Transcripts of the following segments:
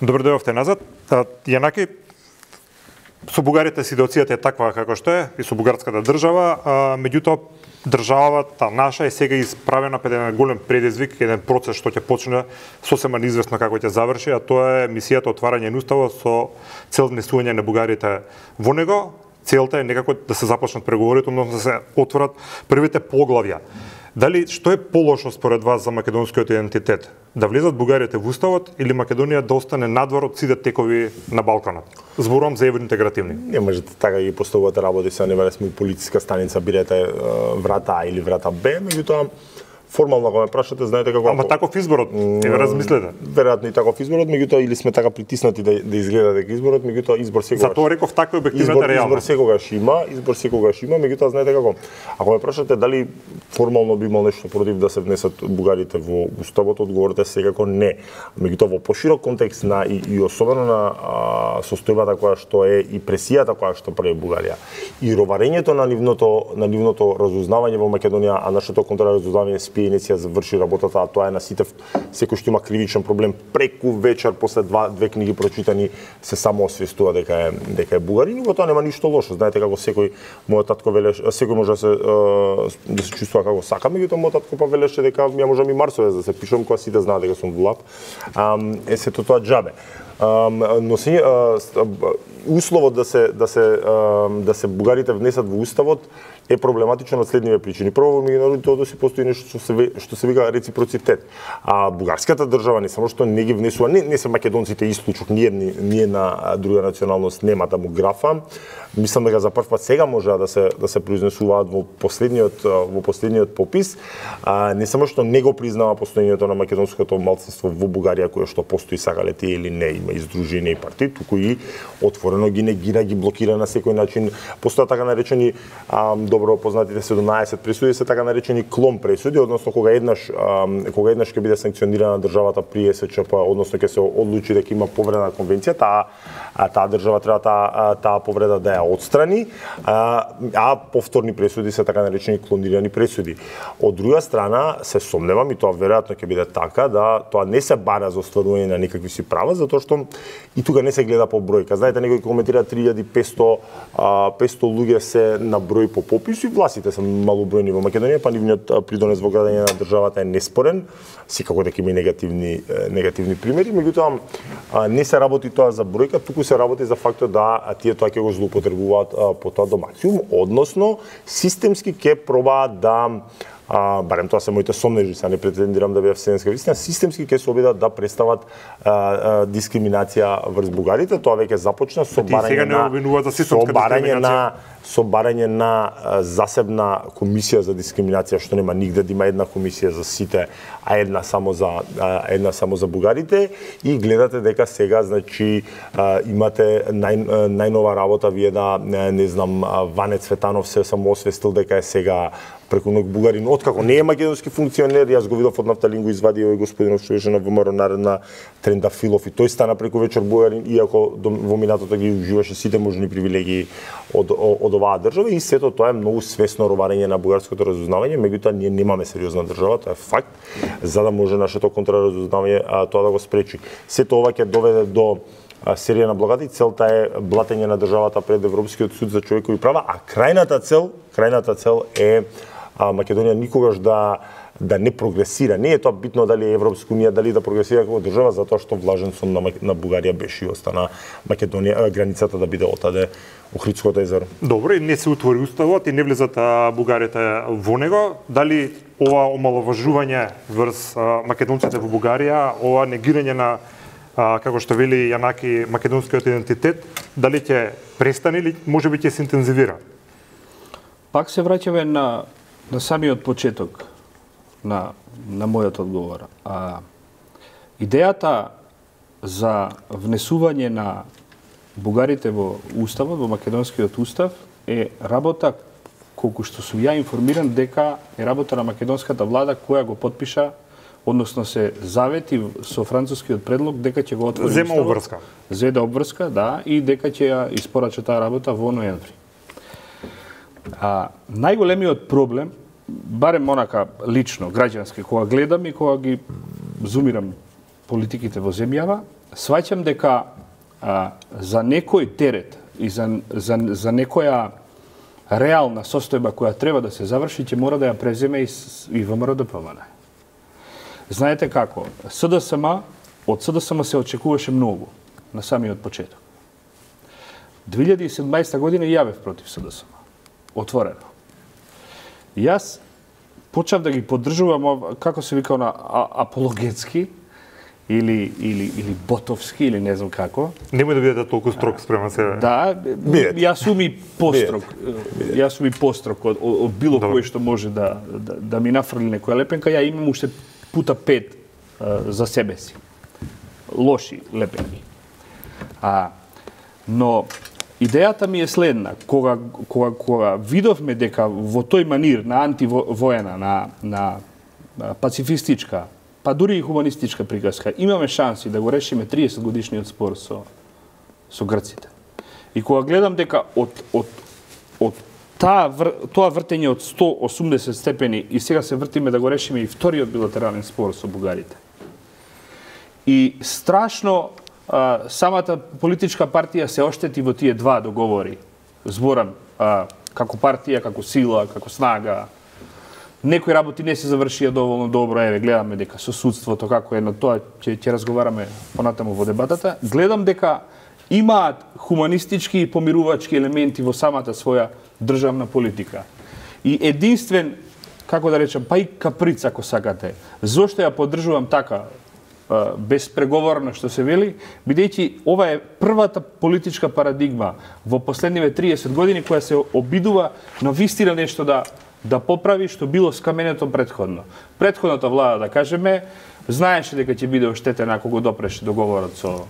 Добро дојдовте назад. Јанаки, со бугарите ситуацијата е таква како што е, и со бугарската држава, меѓутоа државата наша е сега исправена пред еден голем предизвик, еден процес што ќе почне сосема неизвестно како ќе заврши, а тоа е мисијата отварање на уставот со цел внесување на бугарите во него. Целта е некако да се започнат преговорите, односно да се отворат првите поглавја. Дали што е полошо според вас за македонскиот идентитет? Да влезат бугарите во уставот или Македонија да остане надвор од сите текови на Балканот? Зборувам за евроинтегративни. Не можете така ги поставувате работи, се не вале сме политичка станица, бирате врата А или врата Б, меѓутоа формално ако ме прашате, знаете како... Ама таков изборот, размислете. Веројатно и таков изборот, меѓутоа или сме така притиснати да изгледа дека изборот, меѓутоа избор секогаш. Затоа реков така објективната реална. Избор секогаш има, меѓутоа знаете како. Ако ме прашате дали формално би имал нешто против да се внесат бугарите во уставот, одговорот е секако не. Меѓутоа во поширок контекст на и особено на состојбата која што е и пресијата која што прави Бугарија и роварењето на нивното разузнавање во Македонија, а нашето контраразузнавање иниција заврши работата, а тоа е на сите, секој што има кривичен проблем преку вечер после две книги прочитани се само освестува дека е бугарин, и во тоа нема ништо лошо. Знаете како секој мојот татко велеше, секој може да се чувствува како сака, меѓутоа мојот татко па велеше дека ја можам и Марсовец да се пишам кога сите знаат дека сум влап. Сето тоа џабе. Но условот да се бугарите внесат во уставот е проблематично од следниве причини. Прво, во меѓународните односи постои нешто што се вика реципроцитет. А бугарската држава не само што не ги внесува, не се македонците исклучок, ние на друга националност нема демографа. Мислам дека за прв пат сега можеа да се произнесуваат во последниот попис. Не само што не го признава постоењето на македонското малцинство во Бугарија, кое што постои сакале тие или не, има издружени и партии, туку и отворено ги негира, ги блокира на секој начин. Постојат така наречени добро познатите 17 пресуди, се така наречени клон пресуди, односно кога еднаш ќе биде санкционирана државата при СЧП, односно ќе се одлучи дека има повреда на конвенцијата, таа држава треба таа повреда да ја отстрани, а повторни пресуди се така наречени клонирани пресуди. Од друга страна, се сомневам, и тоа веројатно ќе биде така, да тоа не се бара за остварување на некакви си права, затоа што и тука не се гледа по бројка. Знаете, некои коментира 3500 луѓе се на број по попис, и властите се малобројни во Македонија, па нивниот придонес во градење на државата е неспорен, секако дека има негативни примери, меѓутоа не се работи тоа за бројка, туку се работи за фактот да тие тоа ќе го злоупотребуваат по тоа до максимум, односно системски ќе пробаат да барем тоа се моите сомнежи, не претендирам да бидам вселенска вистина, системски ќе се обидат да представат дискриминација врз бугарите. Тоа веќе започна со барање на засебна комисија за дискриминација, што нема нигде да има една комисија за сите, а една само за бугарите, и гледате дека сега значи имате најнова работа, вие не знам, Ване Цветанов се само освестил дека е сега преку ног бугарин, откако не е македонски функционер. Јас го видов од Нафталин, го извади овој господинов што беше на ВМРО наредна Трендафилов, и тој стана преку вечер бугарин, иако во минатото ги уживаше сите можни привилегии од оваа држава, и сето тоа е многу свесно роварење на бугарското разузнавање, меѓутоа ние немаме сериозна држава, тоа е факт, за да може нашето контраразузнавање тоа да го спречи. Сето ова ќе доведе до серија на блокади, целта е блатење на државата пред Европскиот суд за човекови права, а крајната цел е Македонија никогаш да не прогресира. Не е тоа битно дали е Европска унија, дали да прогресира како држава, затоа што влажен сон на Бугарија беше и остана Македонија, границата да биде отаде Охридското езеро. Добро, и не се утвори уставот и не влезат бугарите во него. Дали ова омаловажување врз македонците во Бугарија, ова негирање на како што вели Јанаки македонскиот идентитет, дали ќе престане или можеби ќе се интензивира? Пак се враќаме на самиот почеток на мојот одговор. Идејата за внесување на бугарите во уставот, во македонскиот устав, е работа, колку што сум ја информиран, дека е работа на македонската влада која го потпиша, односно се завети со францускиот предлог дека ќе го отвори уставот. Зеде обврска, да, и дека ќе ја испорача таа работа во ноември. Најголемиот проблем, барем онака лично, граѓански, кога гледам и кога ги зумирам политиките во земјава, сваќам дека за некој терет и за некоја реална состојба која треба да се заврши, ќе мора да ја преземе и ВМРО ДПМН. Знаете како, од СДСМ се очекуваше многу на самиот почеток. 2017 година јавев против СДСМ. Отворено. Јас почав да ги поддржувам, како се вика, апологетски, или ботовски, или не знам како. Немој да бидете толку строг спрема себе. Да, јас сум и построг. Јас сум и построг од било кој што може да ми нафрли некоја лепенка. Ја имам уште пута 5 за себе си. Лоши лепенки. Но идејата ми е следна. Кога видовме дека во тој манир на антивоена, на пацифистичка, па дури и хуманистичка приказка, имаме шанси да го решиме 30 годишниот спор со грците. И кога гледам дека од тоа вртење од 180 степени и сега се вртиме да го решиме и вториот билатерален спор со бугарите. И страшно самата политичка партија се оштети во тие два договори. Зборам како партија, како сила, како снага. Некои работи не се завршија доволно добро, еве гледаме дека со судството како е на тоа ќе разговараме понатаму во дебатата. Гледам дека имаат хуманистички и помирувачки елементи во самата своја државна политика. И единствен, како да речам, па и каприц ако сакате, зошто ја поддржувам така безпреговорно што се вели, бидејќи ова е првата политичка парадигма во последниве 30 години која се обидува на вистина нешто да поправи што било скаменето предходно. Предходната влада, да кажеме, знаеше дека ќе биде оштетена ако го допреше договорот со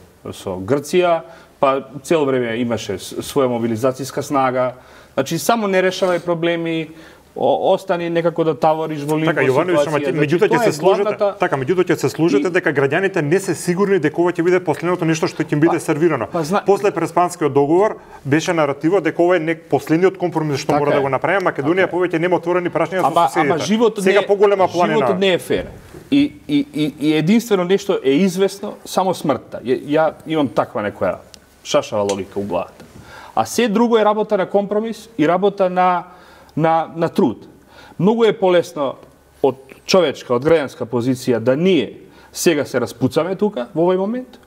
Грција, па цело време имаше своја мобилизацијска снага. Значи, само не решавај проблеми, остани некако да тавориш во лимбо ситуација. Меѓутоа ќе се служите дека граѓаните не се сигурни дека ова ќе биде последното нешто што ќе им биде сервирано. После Преспанскиот договор беше наративот дека ова е последниот компромис што мора да го направи Македонија, повеќе нема отворени прашања со соседите. Ама животот не е фер. И единствено нешто е известно, само смртта. Ја имам таква некоја шашава логика у главата. А се друго е работа на компромис и работа на труд. Многу е полесно од човечка, од граѓанска позиција да ние сега се распуцаме тука во овој момент,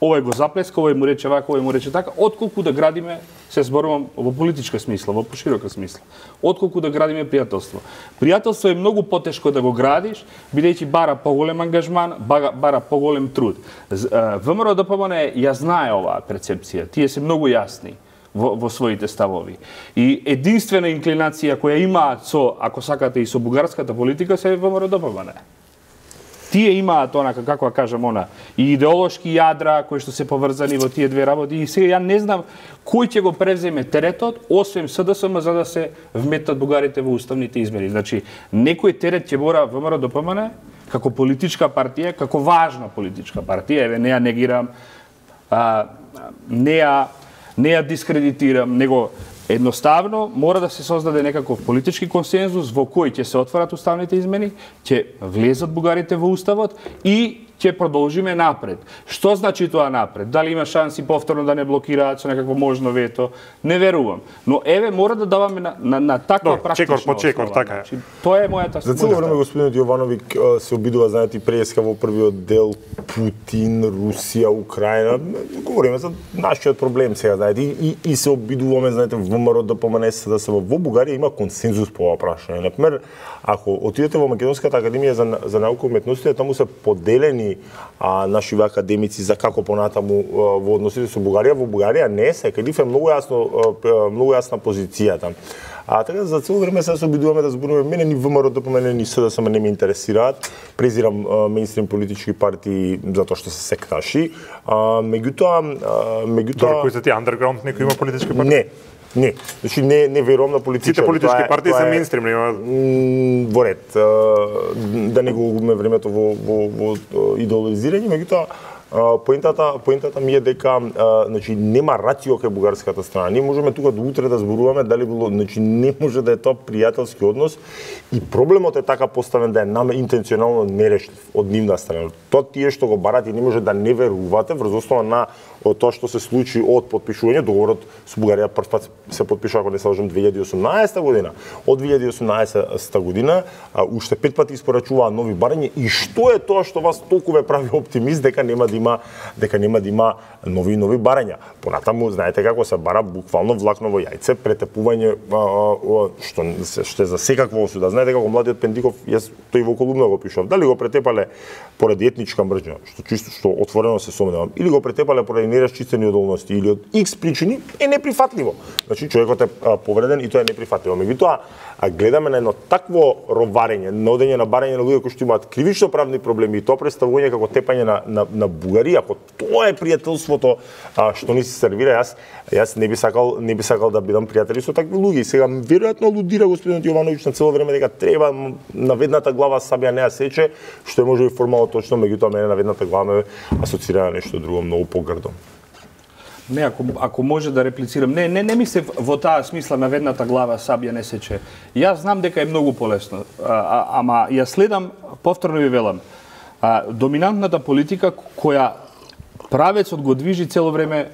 овој го заплеска, овој му рече вака, овој му рече така, отколку да градиме, се зборувам во политичка смисла, во поширока смисла, отколку да градиме пријателство. Пријателство е многу потешко да го градиш, бидејќи бара поголем ангажман, бара поголем труд. ВМРО ДПМН ја знае оваа перцепција, тие се многу јасни во своите ставови. И единствена инклинација која имаат ако сакате, и со бугарската политика се ВМРО ДПМН. Тие имаат онака, како кажам, и идеолошки јадра кои што се поврзани во тие две работи. И сега ја не знам кој ќе го превземе теретот, освен СДСМ, за да се вметат бугарите во уставните измени. Значи, некој терет ќе мора ВМРО ДПМН како политичка партија, како важна политичка партија, еве не ја негирам, не ја дискредитирам, него едноставно мора да се создаде некаков политички консензус во кој ќе се отворат уставните измени, ќе влезат бугарите во уставот и ќе продолжиме напред. Што значи тоа напред? Дали има шанси повторно да не блокираат со некакво можно вето? Не верувам. Но еве мора да даваме на таква практична чекор по чекор, така е. Тоа е мојата. За цело време господинот Јовановиќ се обидува, знаете, преска во првиот дел Путин, Русија, Украина. Говориме за нашиот проблем сега, знаете, и се обидуваме, знаете, ВМРО ДПМН да се во Бугарија има консензус по ова прашање. Например, ако отидете во Македонската академија за наука и уметности, таму се поделени наши академици за како понатаму во односите со Бугарија. Во Бугарија не се, кај нив е многу јасна позицијата. Така за цело време се обидуваме да зборуваме, мене ни ВМРО ДПМН ни СДСМ не ме интересираат. Презирам мејнстрим политички партии затоа што се секташи. Меѓутоа Дори кои се тие андерграунд, некој има политички партии? Не. Значи не верувам на политичари. Сите политички партии се мејнстрим, нема во ред. Да не го губиме времето во идеолизирање, меѓутоа Поентата ми е дека значи нема рацио кај бугарската страна. Ние можеме тука до утре да зборуваме дали било, значи не може да е тоа пријателски однос и проблемот е така поставен да е наме интенционално нерешлив од нивна страна. Тоа тие што го барат и не може да не верувате врз основа на тоа што се случи од подпишување, договорот со Бугарија прв пат се подпишува, ако не се лажам, 2018 година. Од 2018 година уште 5 пати испорачуваа нови барања и што е тоа што вас толку ве прави оптимист дека нема да има нови барања. Понатаму знаете како се бара буквално влакново јајце, претепување што е за секаква осуда. Знаете како младиот Пендиков, јас тој во колумна го пишав, дали го претепале поради етничка мрежа, што отворено се сомневам, или го претепале поради нерасчистени одолности или од X причини, е неприфатливо. Значи човекот е повреден и тоа е неприфатливо. Меѓутоа, гледаме на едно такво роварење, на одење на барање на луѓе кои што имаат кривично правни проблеми и тоа представување како тепање на Бугарија, ако тоа е пријателството што ни се сервира, јас не би сакал да бидам пријатели со такви луѓе. И сега веројатно алудира господинот Јовановиќ на цело време дека треба на ведната глава сабја не ја сече, што е можеби формално точно, меѓутоа мене на ведната глава ме асоцира на нешто друго многу погрдо. Не, ако може да реплицирам, не мислев во таа смисла на ведната глава сабја не сече. Јас знам дека е многу полесно, ама ја следам, повторно ви велам, доминантната политика која правецот го движи цело време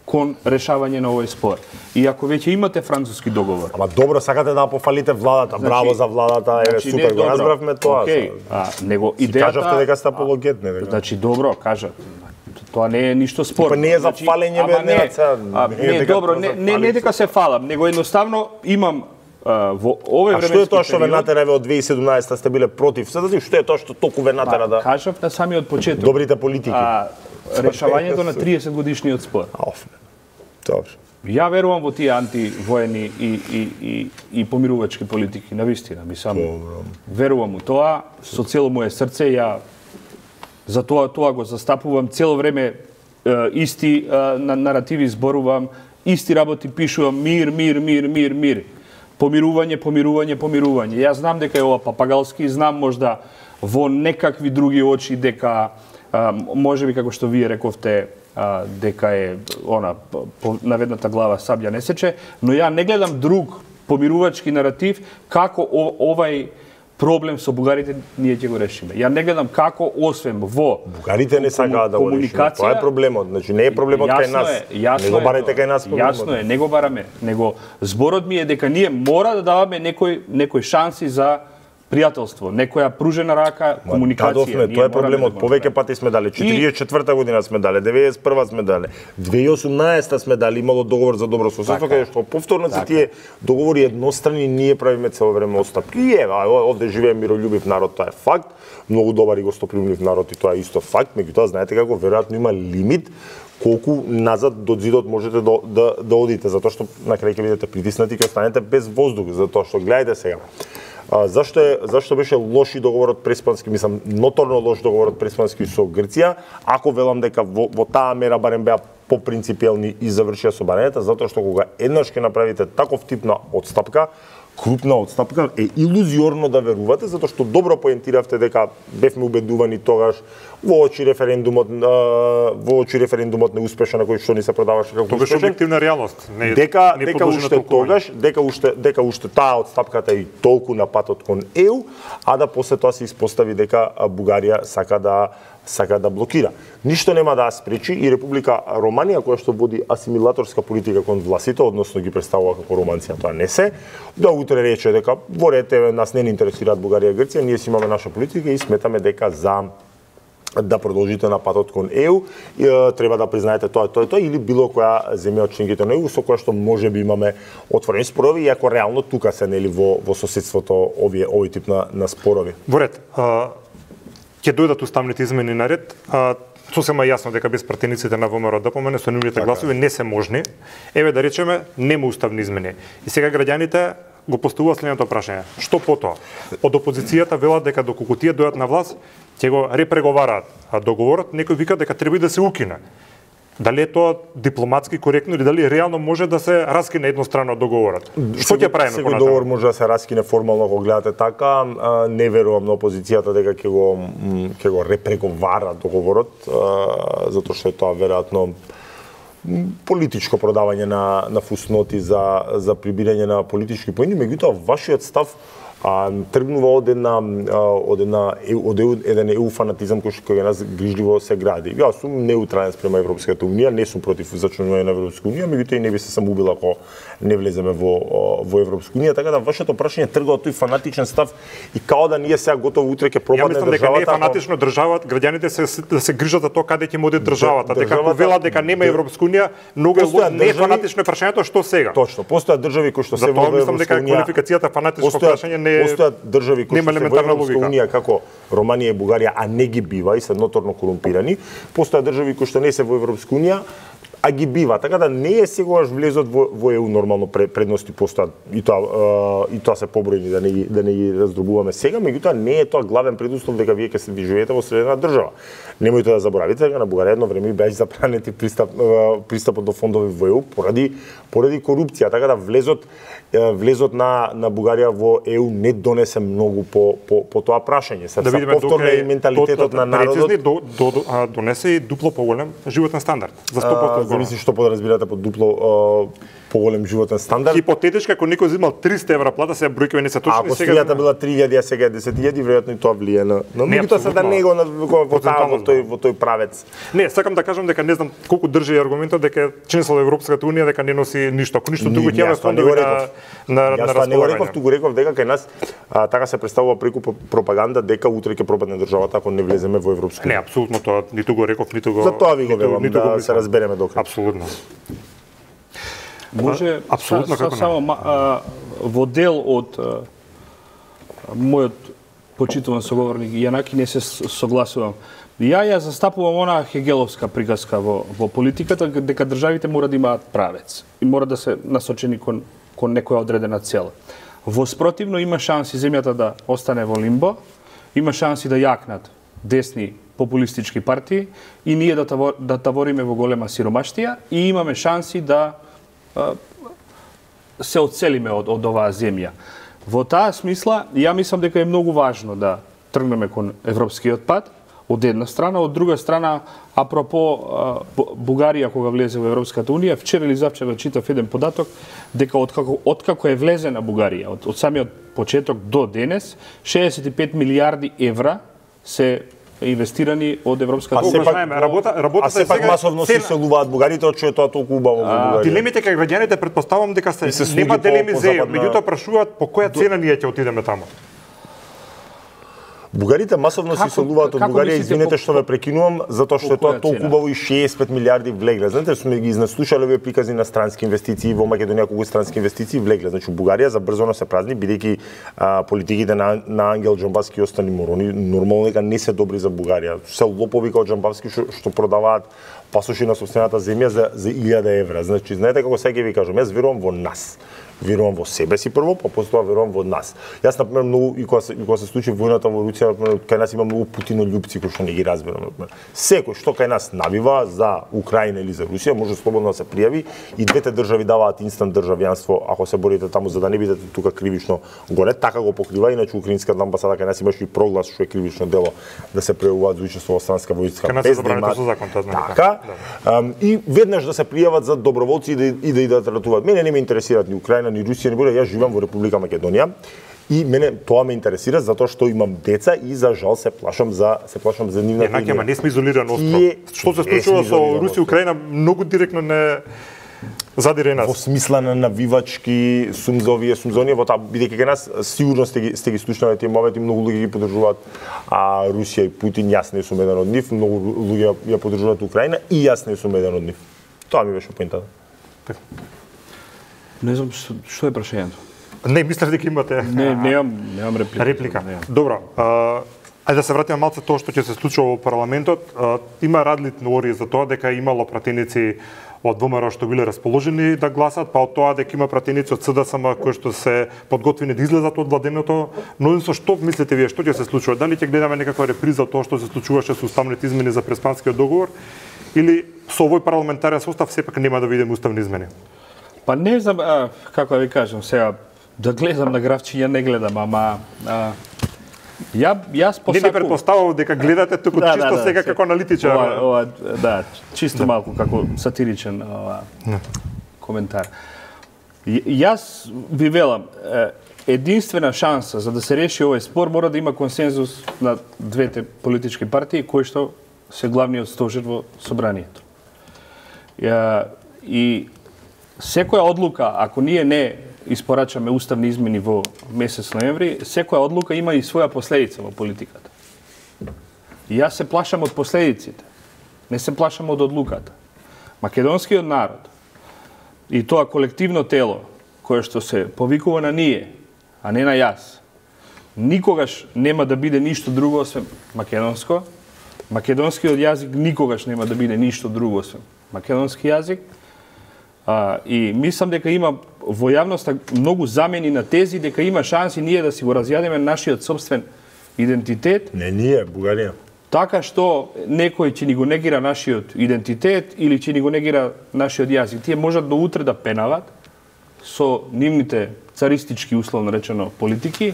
кон решавање на овој спор. И ако веќе имате француски договор. Ама добро, сакате да пофалите владата, браво за владата, супер, го разбравме тоа. Него идејата кажавте дека сте апологет, не дека. Значи добро, кажа. Тоа не е ништо спорно. Не е за фалење не, добро, не дека се фалам, него едноставно имам во овој временски период. А што е тоа што ве натера од 2017 сте биле против? Што е тоа што толку ве натера да? Кажав на самиот почеток. Добрите политики. Решавањето на 30 годишниот спор. Добро. Ја верувам во тие антивоени и помирувачки политики, навистина, верувам у тоа, со цело моје срце, ја за тоа го застапувам цело време, исти наративи зборувам, исти работи пишувам, мир. Помирување. Јас знам дека е ова папагалски, знам можда во некакви други очи дека можеби како што вие рековте дека е на ведната глава сабја не сече, но ја не гледам друг помирувачки наратив како овај проблем со бугарите ние ќе го решиме. Ја не гледам како освен во бугарите не сакаат да го решиме. Тоа е проблемот. Значи не е проблемот кај нас. Не го барате кај нас проблемот. Јасно е, не го бараме, него зборот ми е дека ние мора да даваме некој шанси за пријателство, некоја пружена рака, комуникација. Тоа е проблемот. Повеќе пати сме дале. 44 година сме дале, 91 сме дале, 2018 сме дале, имало договор за добро соседство, каде што повторно се тие договори еднострани, ние правиме цело време отстапки. И овде живее мирољубив народ, тоа е факт. Многу добар и гостопримлив народ и тоа е исто факт, меѓутоа знаете како веројатно има лимит колку назад до зидот можете да одите, затоа што на крај ќе бидете притиснати и ќе останете без воздух, затоа што гледајте сега. Зашто беше лоши договорот преспански, мислам, ноторно лош договорот преспански со Грција, ако велам дека во таа мера барем беа попринципиелни и завршија со барањата, затоа што кога еднаш ќе направите таков тип на отстапка, крупна отстапка, е илузиорно да верувате, затоа што добро поентиравте дека бевме убедувани тогаш во очи референдумот неуспешен на кој што ни се продаваше како тоа беше објективна реалност. Дека уште таа отстапката и толку на патот кон ЕУ, а да после тоа се испостави дека Бугарија сака да блокира. Ништо нема да спречи и Република Романија, која што води асимилаторска политика кон властите, односно ги представува како романци, тоа не се, да утре рече дека во ред нас не ни интересираат Бугарија и Грција, ние си имаме наша политика и сметаме дека за да продолжите на патот кон ЕУ, треба да признаете тоа или било која земја од членките на ЕУ со која што можеби имаме отворени спорови, иако реално тука се нели во соседството овој тип на спорови. Во ред, ќе дојдат уставните измени на ред, сосема јасно дека без пратениците на ВМРО ДПМН со нивните гласови не се можни. Еве да речеме нема уставни измени. И сега граѓаните го поставуваат следното прашање: што потоа? Од опозицијата велат дека доколку тие дојдат на власт, ќе го репреговараат договорот, некој вика дека треба да се укине. Дали е тоа дипломатски коректно или дали реално може да се раскине еднострано договорот? Што ќе правиме понатаму? Секој договор може да се раскине формално ако гледате така. Не верувам на опозицијата дека ќе го репреговара договорот, затоа што е тоа веројатно политичко продавање на фусноти за прибирање на политички поени. Меѓутоа, вашиот став тргнува од еден EU фанатизам кој нас грижливо се гради. Јас сум неутрален спрема Европската унија, не сум против зачленување на Европската унија, меѓутоа и не би се самоубил ако не влеземе во Европската унија, така да вашето прашање тргува од тој фанатичен став и као да ние сега готово утре ќе пропадне државата. Ја мислам дека не е фанатично државата, граѓаните се грижат за тоа каде ќе оди државата. Дека ако велат дека нема Европска унија, многу не е фанатично прашањето што сега. Точно, постојат држави кои што се во Европска унија. Затоа мислам дека квалификацијата фанатичко прашање постојат држави кои што се во Европска унија како Романија и Бугарија, а не ги бива и се ноторно корумпирани. Постојат држави кои што не се во Европска унија, а ги бива, така да не е секогаш влезот во ЕУ нормално предности постојат и тоа се побројни да не ги раздробуваме сега, меѓутоа не е тоа главен предуслов дека вие ќе се живеете во средена држава. Немојте да заборавите дека на Бугарија едно време беше забранет пристапот до фондови во ЕУ поради корупција, така да влезот на Бугарија во ЕУ не донесе многу по тоа прашање. Се повторно и менталитетот на народот донесе и дупло поголем животен стандард за 100%. Зависи што подразбирате под дупло поголем животен стандард. Хипотетички, ако некој земал 300 евра плата, сега бројките не се точни. Ако стијата била 3000, а сега е 10.000, веројатно и тоа влие на меѓутоа се да него во тој правец. Не, сакам да кажам дека не знам колку држи аргументот дека членство во Европската унија дека не носи ништо. Ако ништо друго ќе имаме фондови на располагање. Јас туку реков дека кај нас така се представува преку пропаганда дека утре ќе пропадне државата ако не влеземе во Европска унија. Не, апсолутно тоа ниту го реков, ниту го. Затоа ви го велам да се разбереме до крај. Апсолутно. Може само во дел од мојот почитуван соговорник Јанаки не се согласувам. Ја застапувам она хегеловска приказка во политиката дека државите мора да имаат правец и мора да се насочени кон некоја одредена цел. Во спротивно има шанси земјата да остане во лимбо, има шанси да јакнат десни популистички партии и ние да тавориме во голема сиромаштија и имаме шанси да се оцелиме од оваа земја. Во таа смисла, ја мислам дека е многу важно да тргнеме кон европскиот пат, од една страна, од друга страна, апропо Бугарија кога влезе во Европската унија, вчера или завчера читав еден податок дека откако е влезена Бугарија, од самиот почеток до денес, 65 милиарди евра се инвестирани од Европската унија. А сепак масовно се иселуваат бугарите, од што е тоа толку убаво во Бугарија. Дилемите кај граѓаните претпоставам дека нема дилеми за еј, меѓутоа прашуваат по која цена ние ќе отидеме таму. Бугарите масовно се иселуваат од Бугарија, извинете што ве прекинувам, затоа што е тоа толку убаво и 65 милиарди влегле. Знаете, сме ги изнаслушале овие приказни на странски инвестиции во Македонија, колку странски инвестиции влегле. Значи Бугарија забрзано се празни, бидејќи политиките на Ангел Џамбавски и остани морони нормално дека не се добри за Бугарија. Се лопови како Џамбавски што продаваат пасоши на сопствената земја за 1000 евра. Значи, знаете како сега ви кажам, јас верувам во нас. Верувам во себе си прво, па после тоа верувам во нас. Јас например многу и кога се случи војната во Русија, кај нас има многу путинољупци кои што не ги разбирам. Секој што кај нас навива за Украина или за Русија може слободно да се пријави и двете држави даваат инстант државјанство ако се борите таму за да не бидете тука кривично горе, така го покрива, иначе украинската амбасада кај нас имаше и проглас што е кривично дело да се преуваат за учество во странска војска без да имаат закон, така. И веднаш да се пријават за доброволци и да идат ратуваат. Мене не ме интересираат ни Украина ни Русија, не буде, јас живеам во Република Македонија и мене тоа ме интересира затоа што имам деца и за жал се плашам за нивната идеја. Не сме изолиран остров. Што се случува со Русија и Украина многу директно не задире нас. Во смисла на навивачки сумзонија, во таа бидејќи кај нас сигурно сте ги слушнале тие моменти, многу луѓе ги поддржуваат Русија и Путин, јас не сум еден од нив, многу луѓе ја поддржуваат Украина и јас не сум еден од нив. Тоа ми беше поентата. Не знам што е прашањето. Не, мислев дека имате. Немам реплика. Добро. Ајде да се вратиме малце тоа што ќе се случува во парламентот. Има различни теории за тоа дека имало пратеници од ВМРО што биле расположени да гласат, па од тоа дека има пратеници од СДСМ кои што се подготвени да излезат од владеното мнозинство. Што мислите вие, што ќе се случува? Дали ќе гледаме некаква реприза од тоа што се случуваше со уставните измени за Преспанскиот договор? или со овој парламентарен состав сепак нема да видиме уставни измени? Па не знам, како да ви кажам сега, да гледам на графчиња не гледам, ама јас посакувам. Не ви претпоставувам дека гледате туку чисто сега како аналитичар. Да, чисто малку како сатиричен коментар. Јас ви велам, единствена шанса за да се реши овој спор мора да има консензус на двете политички партии кои што се главниот стожер во собранието. И секоја одлука, ако ние не испорачаме уставни измени во месец ноември, секоја одлука има и своја последица во политиката. И јас се плашам од последиците, не се плашам од одлуката. Македонскиот народ и тоа колективно тело кое што се повикува на ние, а не на јас, никогаш нема да биде ништо друго освен македонско. Македонскиот јазик никогаш нема да биде ништо друго освен македонски јазик. И мислам дека има во јавноста многу замени на тези, дека има шанси ние да си го разјадеме нашиот собствен идентитет. Не ние, Бугарија. Така што некој ќе ни го негира нашиот идентитет или ќе ни го негира нашиот јазик. Тие можат до утре да пенават со нивните царистички, условно речено, политики,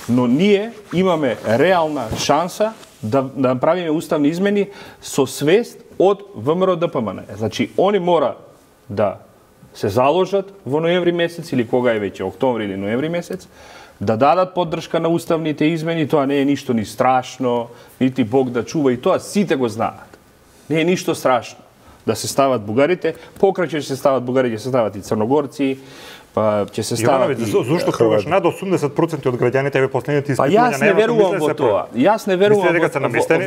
но ние имаме реална шанса да направиме уставни измени со свест од ВМРО-ДПМН. Значи, они мора да се заложат во ноември месец или кога е веќе, октомври или ноември месец, да дадат поддршка на уставните измени, тоа не е ништо ни страшно, нити Бог да чува, и тоа сите го знаат. Не е ништо страшно да се стават бугарите, покрај ќе се стават бугари, ќе се стават и црногорци, па ќе се стават и... Зошто кажеш над 80% од граѓаните во последните испитувања? Па јас не верувам во тоа. Јас не верувам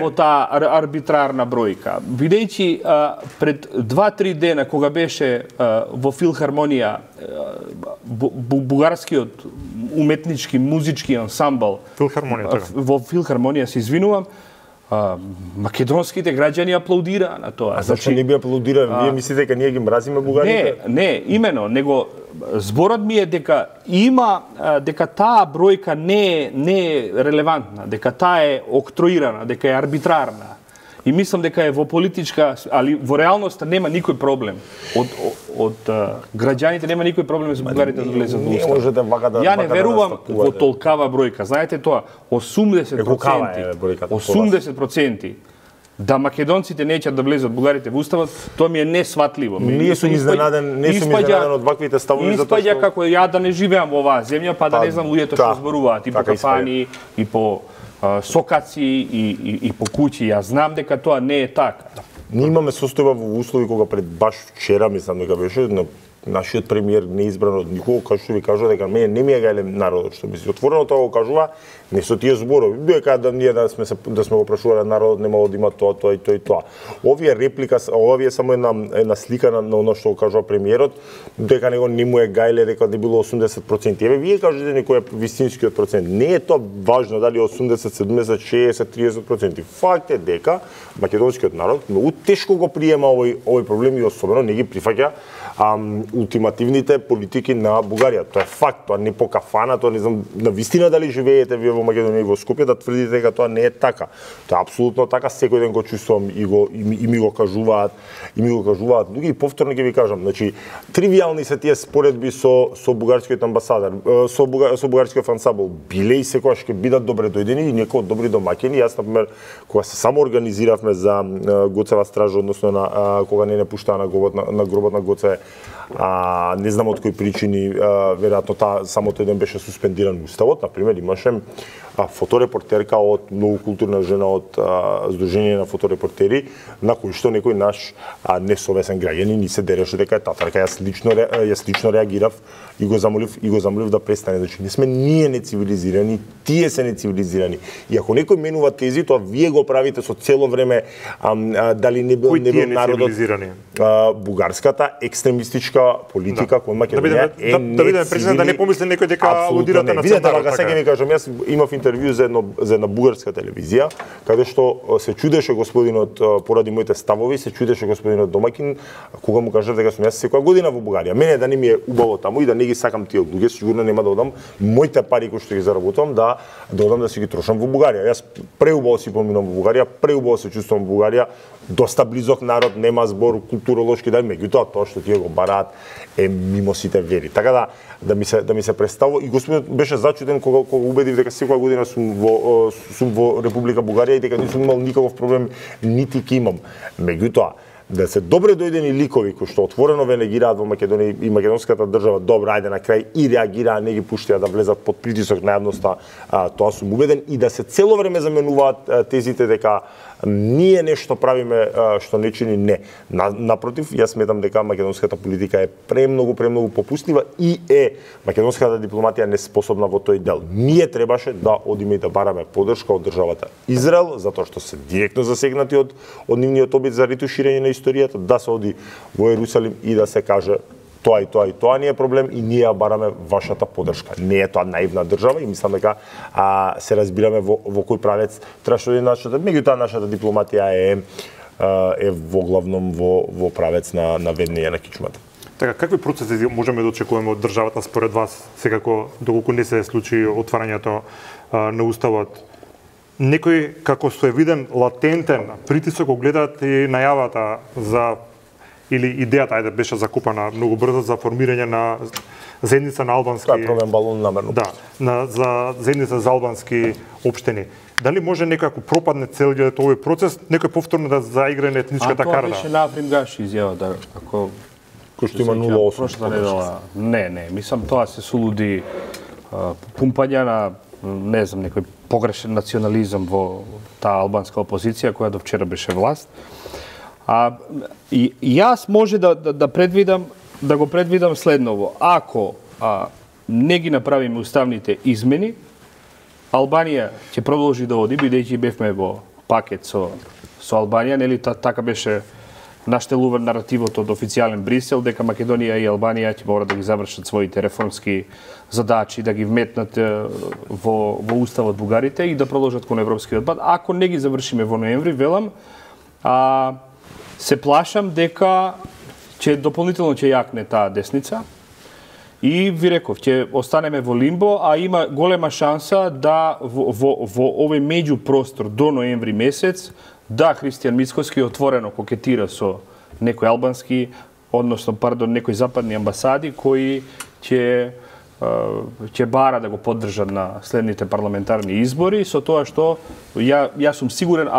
во таа арбитрарна бројка. Бидејќи пред 2-3 дена кога беше во филхармонија бугарскиот уметнички музички ансамбл во филхармонија, се извинувам, македонските граѓани аплаудираа на тоа. Зашто не би аплаудираа? Вие мислите дека ние ги мразиме бугарите? Не, имено, него зборот ми е дека има дека таа бројка не е релевантна, дека таа е октроирана, дека е арбитрарна. И мислам дека е во политичка, али во реалноста нема никој проблем од граѓаните, нема никој проблем за бугарите да влезат во Устав. Не можете вака да... Ја не верувам во толкава бројка. Знаете тоа, 80% да македонците неќат да влезат бугарите во Уставот, тоа ми е несватливо. Не сум изненаден од ваквите ставови, затоа што... Испаѓа како ја да не живеам во оваа земја, па да не знам луѓето што зборуваат и по кафани, и по сокаци и по куќи. Јас знам дека тоа не е така. Ние имаме состојба во услови кога пред баш вчера, мислам дека беше, нашиот премиер не избран од никого, кај што ви кажува дека мене не ми е гајле народот, што би си отворено тоа го кажува, не со тие зборови. Дека да ние да сме го прашувале народот немало да има тоа и тоа. Овие реплика, овие само една слика на оно што го кажува премиерот, дека него не му е гајле, дека не било 80%. Еве вие кажете некој е вистинскиот процент. Не е тоа важно дали 80, 70, 60, 30%. Факт е дека македонскиот народ многу тешко го приема овој проблем и особено не ги прифаќа ултимативните политики на Бугарија. Тоа е факт, тоа не по кафана, тоа не знам на вистина дали живеете вие во Македонија и во Скопје да тврдите дека тоа не е така. Тоа е апсолутно така, секој ден го чувствувам и ми го кажуваат, луѓе, и повторно ќе ви кажам, значи тривијални се тие споредби со бугарскиот амбасадор, со бугарскиот ансамбл, биле и секогаш ќе бидат добре дојдени и некои добри домаќини. Јас например кога се само организиравме за Гоцева стража, односно на кога не пуштаа на гробот на Гоце, не знам од кои причини, веројатно само тој ден беше суспендиран уставот. Например, имаше фоторепортерка од многу културна жена од Сдружение на фоторепортери, на кој што некој наш несовесен граѓанин ни се дереше дека е татарка. Јас лично реагирав и го замолив да престане. Значи, не сме ние нецивилизирани, тие се нецивилизирани. И ако некој менува тези, тоа вие го правите со цело време, дали не бил народот, бугарската екстремистка економистичка политика која Македонија е да бидеме прецизни, да не помисли некој дека алудирате на Видете, центарот. сега ви кажам, јас имав интервју за една бугарска телевизија, каде што се чудеше господинот поради моите ставови, се чудеше господинот домакин кога му кажав дека сум јас секоја година во Бугарија. Мене да не ми е убаво таму и да не ги сакам тие луѓе, сигурно нема да одам моите пари кои што ги заработувам да одам да си ги трошам во Бугарија. Јас преубаво си поминам во Бугарија, преубаво се чувствувам во Бугарија, доста близок народ, нема збор културолошки дај, меѓутоа тоа што тие го бараат е мимо сите вери. Така да ми се представува и господинот беше зачуден кога убедив дека секоја година сум во Република Бугарија и дека не сум имал никаков проблем, нити ќе имам. Меѓутоа, да се добре дојдени ликови кои што отворено ве негираат во Македонија и македонската држава, добро, ајде на крај и реагираа, не ги пуштија да влезат под притисок на јавноста, тоа сум убеден, и да се цело време заменуваат тезите дека ние нешто правиме што не чини, не. Напротив, јас сметам дека македонската политика е премногу попустлива и македонската дипломатија неспособна во тој дел. Ние требаше да одиме и да бараме поддршка од државата Израел, затоа што се директно засегнати од нивниот обид за ретуширање на историјата, да се оди во Ерусалим и да се каже тоа и тоа не е проблем и ние ја бараме вашата поддршка. Не е тоа наивна држава и мислам дека се разбираме во кој правец требаше да нашата, меѓутоа нашата дипломатија е во главном во правец на веднење на кичмата. Така, какви процеси можеме да очекуваме од државата според вас, секако доколку не се случи отварањето на уставот? Некој како со виден латентен притисок го гледаат и најавата за или идејата беше закупана многу брзо за формирање на заедница на албански. Тоа е промен балон намерно. Да, за заедница за албански општини. Дали може некако пропадне целиот овој процес, некој повторно да заигра на етничката карта? Тоа беше на Африм Гаши изјава да ако кој што има 0,8. Прошла недела. Не, мислам тоа се сулуди пумпања на не знам некој погрешен национализам во таа албанска опозиција која до вчера беше власт. И јас може да го предвидам следново. Ако не ги направиме уставните измени, Албанија ќе продолжи да оди, бидејќи бевме во пакет со Албанија, нели така беше наштелуван наративот од официјален Брисел, дека Македонија и Албанија ќе мора да ги завршат своите реформски задачи, да ги вметнат во уставот бугарите и да продолжат кон европскиот пат. Ако не ги завршиме во ноември, велам, се плашам дека дополнително ќе јакне таа десница и ви реков, ќе останеме во лимбо, а има голема шанса да во овој меѓупростор до ноември месец да Христијан Мицкоски отворено кокетира со некои албански, некои западни амбасади кои ќе бара да го поддржат на следните парламентарни избори, со тоа што јас сум сигурен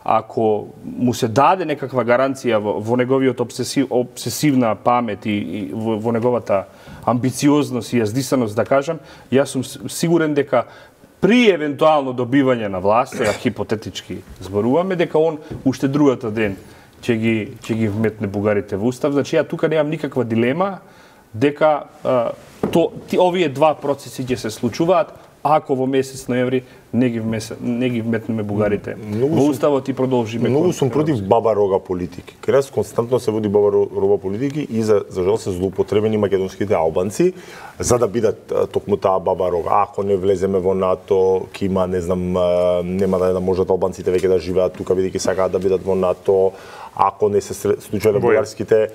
ако му се даде некаква гаранција во неговиот обсесивна памет и во неговата амбициозност и јаздисаност, да кажам, јас сум сигурен дека при евентуално добивање на власт, хипотетички зборуваме, дека он уште другата ден ќе ги вметне бугарите во устав. Значи, ја тука немам никаква дилема дека овие два процеси ќе се случуваат ако во месец ноември не ги вметнеме бугарите во уставот и продолжиме. Многу сум против баба рога политики. Кај нас константно се води баба рога политики и за жал се злоупотребени македонските албанци за да бидат токму таа баба рога. Ако не влеземе во НАТО, ќе има, не знам, нема да можат албанците веќе да живеат тука бидејќи сакаат да бидат во НАТО. Ако не се случиле бугарските,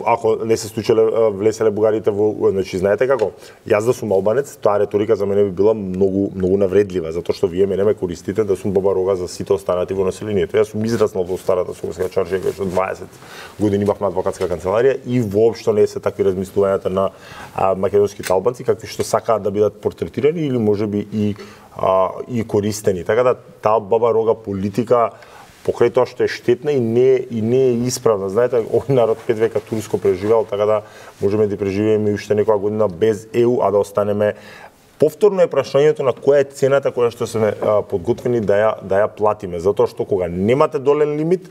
ако не се случиле влеселе бугарите во, значи знаете како, јас да сум албанец, таа реторика за мене би била многу навредлива, затоа што вие мене ме користите да сум баба рога за сите останати во населението. Јас сум израснал во старата Скопска чаршија, кај што 20 години имавме адвокатска канцеларија и воопшто не се такви размислувањата на македонските албанци какви што сакаат да бидат портретирани или можеби и користени. Така да таа баба рога политика покрај тоа што е штетна и не е исправна. Знаете, овој народ 5 века турско преживеал, така да можеме да преживееме уште некоја година без ЕУ, а да останеме. Повторно е прашањето на која е цената која што сме подготвени да ја платиме, затоа што кога немате долен лимит,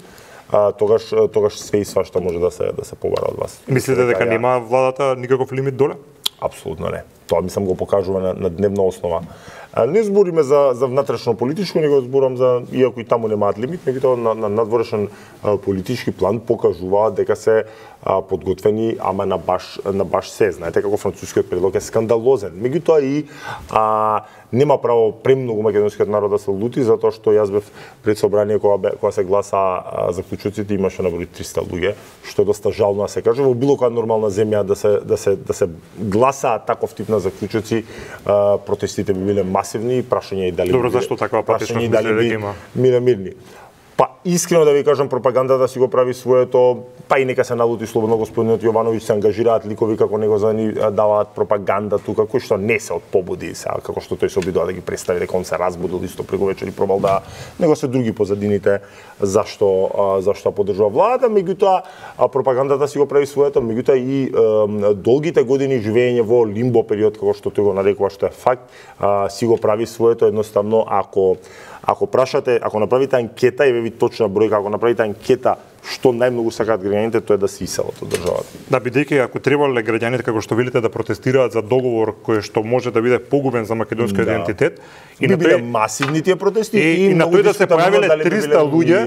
тогаш све и свашта може да се побара од вас. Мислите дека нема владата никаков лимит доле? Апсолутно не. тоа мислам го покажува на дневна основа. Не збориме за внатрешно политичко, него зборам за, иако и таму немаат лимит, меѓутоа на надворешен политички план покажуваат дека се подготвени, ама на баш се. Знаете како францускиот предлог е скандалозен. Меѓутоа и нема право премногу македонскиот народ да се лути, затоа што јас бев пред собрание кога се гласа заклучоците, имаше наброј 300 луѓе, што е доста жално да се каже. Во било која нормална земја да се гласаат таков тип на заклучоци, протестите би биле масивни, прашање и дали Добро, зашто таква апатичност мисли дека има? Мирни. Па искрено да ви кажам, пропагандата си го прави своето, па и нека се налути слободно господинот Јовановиќ, се ангажираат ликови како него за да ни даваат пропаганда тука, кои што не се од побуди, како што тој се обидува да ги представи дека он се разбудил исто преку вечер и пробал да, него се други позадините зашто поддржува владата, меѓутоа пропагандата си го прави своето, меѓутоа и долгите години живење во лимбо период, како што тој го нарекува, што е факт, си го прави своето. Едноставно, ако прашате, ако направите анкета и ви точна бројка, ако направите анкета што најмногу сакаат граѓаните, тоа е да се иселат од државата. Да, бидејќи ако требале граѓаните, како што велите, да протестираат за договор кој што може да биде погубен за македонскиот идентитет, и на биле масивни тие протести и на тој да се појавиле 300 луѓе,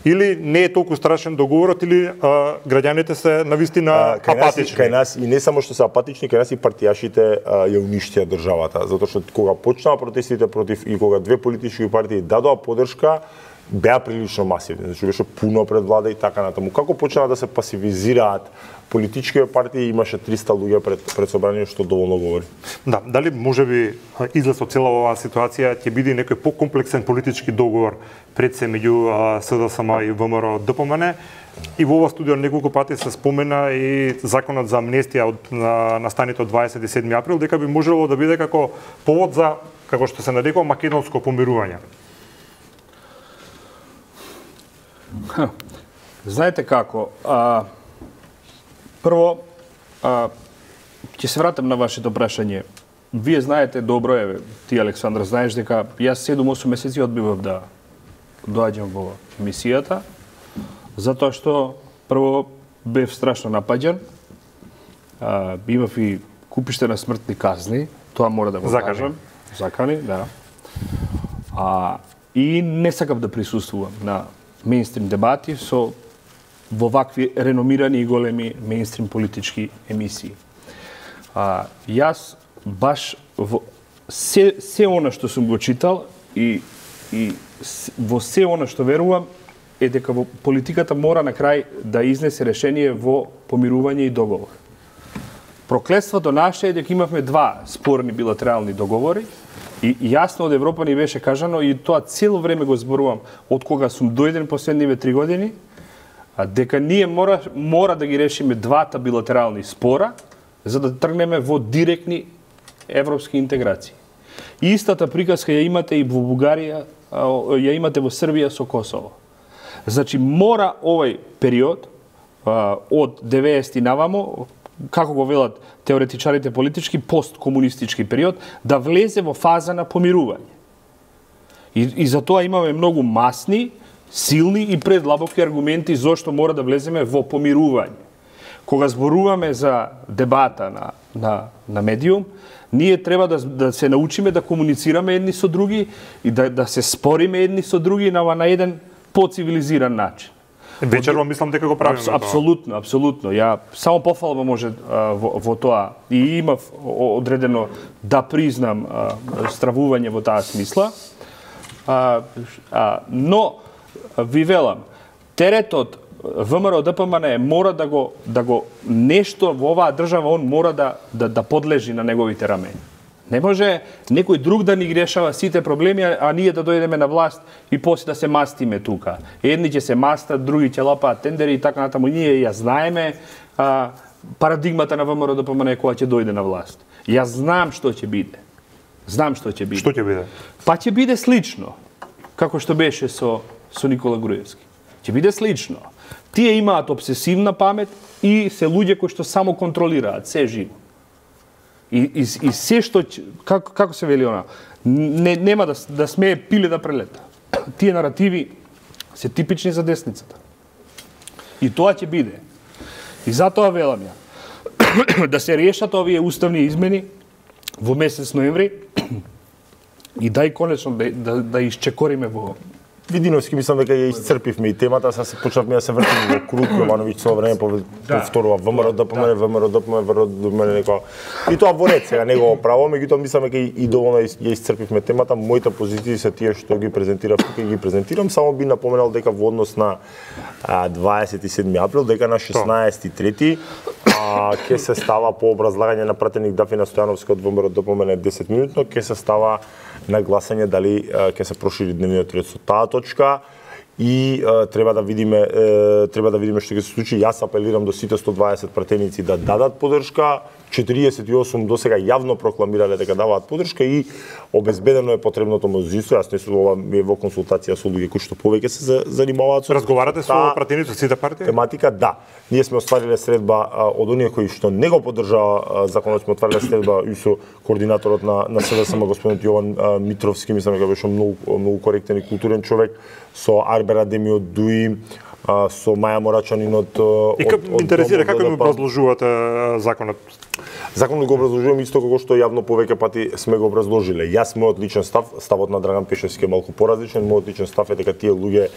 или не е толку страшен договорот, или граѓаните се навистина апатични. Кај нас и не само што се апатични, кај нас и партијашите ја уништија државата, затоа што кога почнаа протестите против и кога две политички партии дадоа поддршка, беа прилично масивни, значи беше пуно пред влада и така натаму. Како почнаа да се пасивизираат политички партии, имаше 300 луѓе пред собрание, што доволно говори. Да, дали можеби излез од цела оваа ситуација ќе биде некој покомплексен политички договор пред се меѓу СДСМ и ВМРО ДПМН? И во ова студио неколку пати се спомена и законот за амнестија од настаните од 27 април, дека би можело да биде како повод за, како што се нарекува, македонско помирување. Знаете како, прво, ќе се вратам на вашето прашање. Вие знаете добро, ти Александр, знаеш дека јас 7-8 месеци одбивав да доаѓам во мисијата, затоа што прво бев страшно напаѓан, имав и купиште на смртни казни, тоа мора да го кажам. Закани, да. И не сакав да присуствувам на мејнстрим дебати во вакви реномирани и големи мејнстрим политички емисии. Јас баш во се она што сум го читал и во се она што верувам е дека во политиката мора на крај да изнесе решение во помирување и договор. Проклетството наше е дека имавме два спорни билатерални договори и јасно од Европа ни беше кажано, и тоа цело време го зборувам од кога сум дојден последниве 3 години, дека ние мора да ги решиме двата билатерални спора за да тргнеме во директни европски интеграции. И истата приказка ја имате и во Бугарија, ја имате во Србија со Косово. Значи мора овој период од 90-ти навамо, како го велат теоретичарите политички, посткомунистички период, да влезе во фаза на помирување. И за тоа имаме многу масни, силни и предлабоки аргументи зошто мора да влеземе во помирување. Кога зборуваме за дебата на медиум, ние треба да се научиме да комуницираме едни со други и да се спориме едни со други на еден поцивилизиран начин. Вечерва мислам дека го правиме. Апсолутно. Ја само пофалба може во тоа. И имав одредено да признам стравување во таа смисла. Но ви велам, теретот ВМРО ДПМН мора да го нешто во оваа држава, он мора да подлежи на неговите рамена. Не може некој друг да ни ги решава сите проблеми, а ние да дојдеме на власт и после да се мастиме тука. Едни ќе се мастат, други ќе лапаат тендери и така натаму. Ние ја знаеме парадигмата на ВМРО ДПМН кога ќе дојде на власт. Јас знам што ќе биде. Што ќе биде? Па ќе биде слично, како што беше со Никола Груевски. Ќе биде слично. Тие имаат обсесивна памет и се луѓе кои што само контролираат се живо. И се што, како се вели она, нема да смее пиле да прелета. Тие наративи се типични за десницата. И тоа ќе биде. И затоа велам ја, да се решат овие уставни измени, во месец ноември и дај конечно да исчекориме во Видиновски мислам дека ја исцрпивме и темата, сега се почнавме да се вртиме во круг, Јовановиќ со време повторува ВМРО ДПМН некоја. И тоа во ред сега негово право, меѓутоа мислам дека и доволно ја исцрпивме темата. Моите позиции се тие што ги презентирав тука и ги презентирам, само би напоменал дека во однос на 27 април, дека на 16.3 ќе се става по образлагање на пратеник Дафина Стојановска од ВМРО ДПМН 10 минутно, ќе се става на гласање дали ќе се прошири дневниот ред со таа точка и треба да видиме што ќе се случи. Јас апелирам до сите 120 пратеници да дадат поддршка. 48 досега јавно прокламирале дека даваат поддршка и обезбедено е потребното мнозинство. Јас не сум во консултација со луѓе кои што повеќе се занимаваат со Разговарате со пратеници од сите партии? Тематика, да. Ние сме оствариле средба од оние кои што не го поддржава законот, сме отвариле средба и со координаторот на СДСМ господин Јован Митровски, мислам дека беше многу коректен и културен човек, со Арбер Адемиот Дуи, со Маја Морачанин од И како интересира како ми образложувате законот? Законот го образложувам исто како што јавно повеќе пати сме го образложиле. Јас мојот личен ставот на Драган Пешевски е малку поразличен. Мојот личен став е дека тие луѓе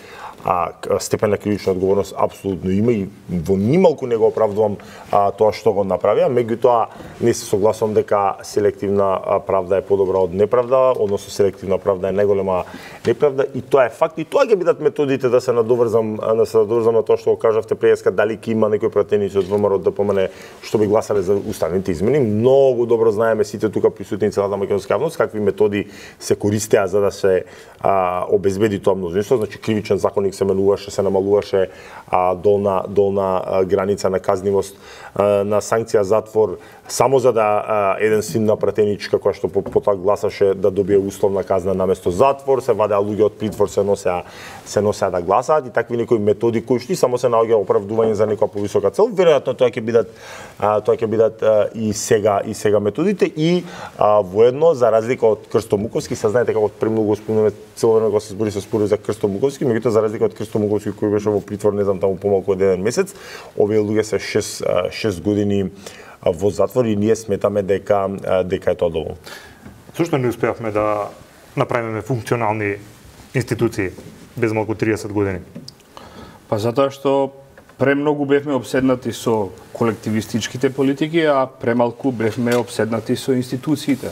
степен на кривична одговорност апсолутно има и во нималку не го оправдувам тоа што го направија, меѓутоа не се согласувам дека селективна правда е подобра од неправда, односно селективна правда е најголема неправда и тоа е факт и тоа ќе бидат методите да се надоврзам на тоа што го кажавте преска, дали ќе има некои пратеници од ВМРО ДПМН што би гласале за уставните измени. Многу добро знаеме сите тука присутни целата македонска јавност какви методи се користеа за да се обезбеди тоа мнозинство, значи кривичен законник се менуваше, се намалуваше долна граница на казнивост, на санкција затвор, само за да еден син на пратеничка која што потоа гласаше да добие условна казна наместо затвор, се вадеа луѓе од притвор, се носеа да гласаат и такви некои методи кои што само се наоѓа оправдување за некоја повисока цел. Веројатно тоа ќе бидат и сега методите и воедно за разлика од Крсто Муковски, се знаете како премногу спомнуваме цело време кога се спори за Крсто Муковски, меѓутоа за разлика од Крсто Муковски кој беше во притвор, не знам, таму помалку од еден месец, овие луѓе се 6 години во затвор и ние сметаме дека е тоа доволно. Зошто не успеавме да направиме функционални институции без малку 30 години? Па затоа што премногу бевме обседнати со колективистичките политики, а премалку бевме обседнати со институциите.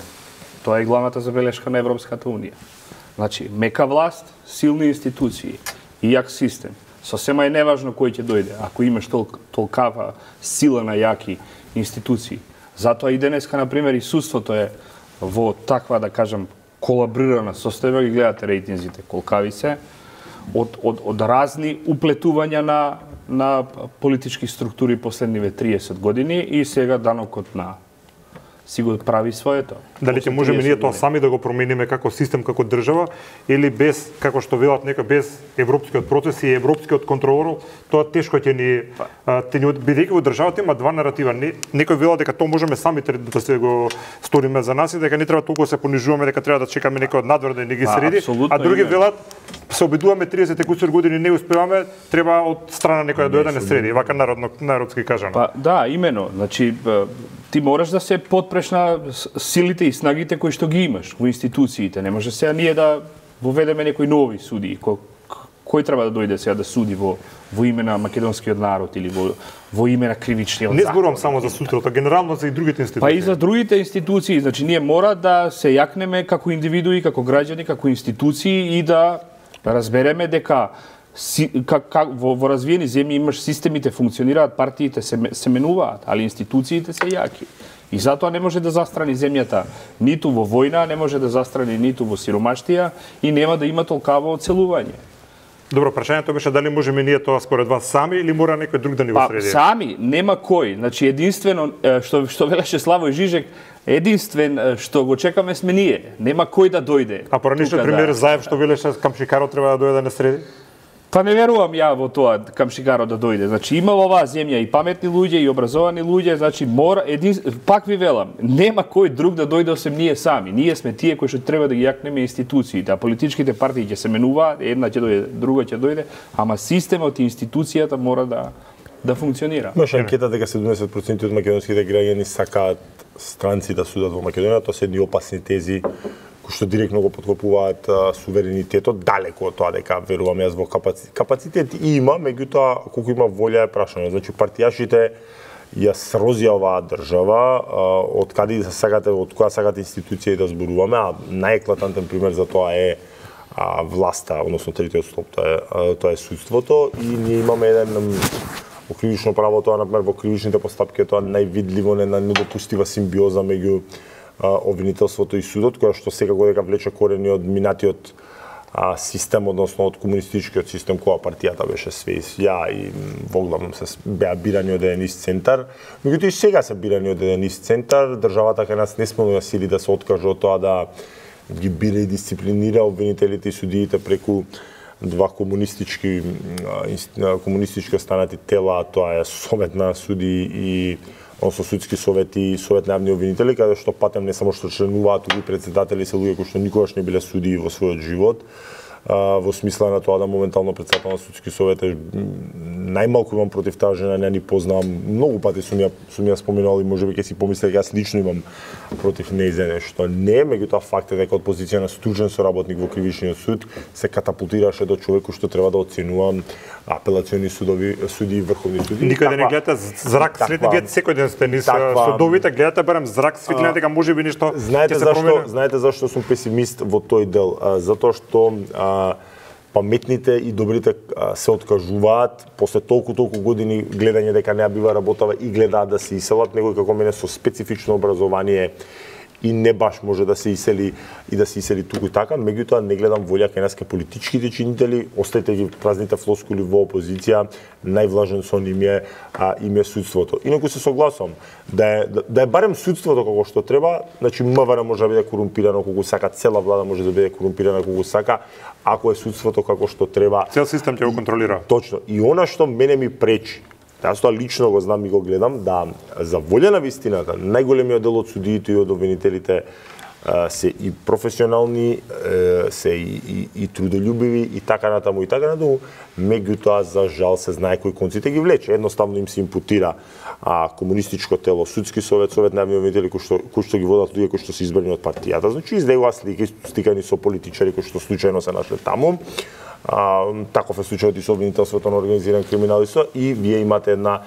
Тоа е главната забелешка на Европската унија. Значи, мека власт, силни институции и јак систем. Сосема е неважно кој ќе дојде, ако имаш толкава сила на јаки институции. Затоа и денеска, например, и судството е во таква, да кажам, колабрирана состојба, ги гледате рейтинзите, колкави се, од разни уплетувања на политички структури последниве 30 години и сега данокот на си го прави своето. Дали ќе можеме ние тоа сами да го промениме како систем, како држава, или без, како што велат некој, без европскиот процес и европскиот контролор, тоа тешко ќе ни бидејќи во државата има два наратива. Некој вела дека тоа можеме самите да се го сториме за нас и дека не треба толку да се понижуваме, дека треба да чекаме некој од надвор да ни ги среди, а други велат се обидуваме 30 кусур години не успеваме, треба од страна некој да дојде да не среди, вака народски кажано. Па да, имено, значи ти мораш да се потпреш на силите и снагите кои што ги имаш во институциите. Не може сега ние да воведеме некои нови суди. Кој треба да дојде сега да суди во име на македонскиот народ или во име на кривичниот закон? Не зборувам само за судрото, генерално за и другите институции. Па и за другите институции. Значи ние мора да се јакнеме како индивидуи, како граѓани, како институции и да разбереме дека во развиени земји имаш системите функционираат, партиите се менуваат, али институциите се јаки. И затоа не може да застрани земјата ниту во војна, не може да застрани ниту во сиромаштија и нема да има толкаво оцелување. Добро, прашањето беше дали можеме ние тоа според вас сами или мора некој друг да ни го среди? Па сами, нема кој. Значи единствено што велеше Славој Жижек, единствен што го чекаме сме ние. Нема кој да дојде. А поранишниот премиер Заев што велеше Камшикаро треба да дојде да не среди? Па не верувам ја во тоа Камшикаро да дојде. Значи има во оваа земја и паметни луѓе и образовани луѓе, значи мора пак ви велам, нема кој друг да дојде освен ние сами. Ние сме тие кои што треба да ги јакнеме институциите, а политичките партии ќе се менуваат, една ќе дојде, друга ќе дојде, ама системот и институцијата мора да функционира. Имаше анкета дека 70% од македонските граѓани сакаат странци да судат во Македонија, тоа се едни опасни тези кои што директно го поткопуваат суверенитетот, далеку од тоа дека верувам јас во капацитет има, меѓутоа колку има волја е прашање. Значи партијашите ја срозија оваа држава, од каде сакате, од која сакате институција да зборуваме, а најеклатантен пример за тоа е власта, односно третиот столб, тоа е судството, и ние имаме еден во кривично право, тоа например во кривичните постапки тоа највидливо недопустива симбиоза меѓу обвинителството и судот, која што секако дека влече корени од минатиот систем, односно од комунистичкиот систем, која партијата беше све ја и воглавно се беа бирани од еден ист центар. Меѓутоа и сега се бирани од еден ист центар, државата кај нас не смело да сили да се откаже од тоа да ги бира и дисциплинира обвинителите и судиите преку два комунистички останати тела, тоа е Совет на суди и односно судски совети и Совет на јавни обвинители, каде што патем не само што членуваат, туку и председатели се луѓе кои што никогаш не биле судии во својот живот, во смисла на тоа да моментално председател на судски совет е најмалку имам против таа жена, не ни познавам, многу пати сум ја споменал и можеби ќе си помисле дека јас лично имам против нејзе нешто. Не, меѓутоа факт е дека од позиција на стужен соработник во кривичниот суд се катапултираше до човек кој што треба да оценува апелациони суди и врховни суди. Никаде не гледате зрак светлина, вие секој ден сте низ судовите, гледате барем зрак светлина дека можеби нешто ќе се промени. Знаете зашто сум песимист во тој дел? Затоа што паметните и добрите се откажуваат после толку години гледање дека не бива работава и гледаат да се иселат. Некој како мене со специфично образование и не баш може да се исели и да се исели туку и така, меѓутоа не гледам волја кај нас кај политичките чинители, остајте ги празните флоскули во опозиција, највлажен сон им е судството. Инаку се согласувам, да е барем судството како што треба, значи МВР може да биде корумпирано колку сака, цела влада може да биде корумпирана колку сака, ако е судството како што треба. Цел систем ќе го контролира. Точно. И она што мене ми пречи, јас тоа лично го знам и го гледам, да за волја на вистината, најголемиот дел од судиите и од обвинителите се и професионални, се и трудолюбиви и така натаму, меѓутоа за жал се знае кои конците ги влече. Едноставно им се импутира комунистичко тело, судски совет, Совет на јавни обвинители кои што ги водат луѓе кои што се избрани од партијата. Значи издегува слики стикани со политичари кои што случајно се нашле таму. Таков е случајот и со обвинителството на организиран криминал и вие имате една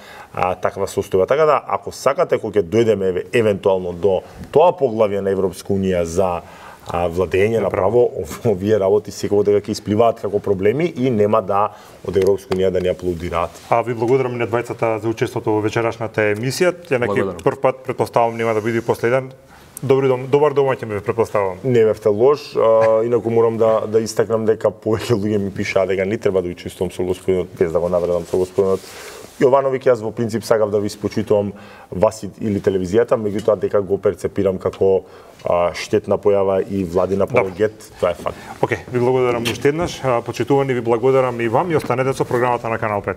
таква состојба. Така да, ако сакате кога ќе дојдеме евентуално до тоа поглавје на Европска унија за владење на право, овие работи секој дека ќе испливаат како проблеми и нема да од Европска унија да ни аплодираат. Ви благодарам на двајцата за учеството во вечерашната емисија. Јанаки прв пат претпоставувам нема да биде последен. Добар домаќин ме претпоставувам. Не бевте лош, инаку морам да истакнам дека повеќе луѓе ми пишаа дека не треба да учествувам со господинот, без да го навредам со господинот Јовановиќ. Јас во принцип сакав да ви спочитувам вас или телевизијата, меѓутоа дека го перцепирам како штетна појава и владин апологет, тоа е факт. Океј, ви благодарам уште еднаш, почитувани, ви благодарам и вам и останете со програмата на Канал 5.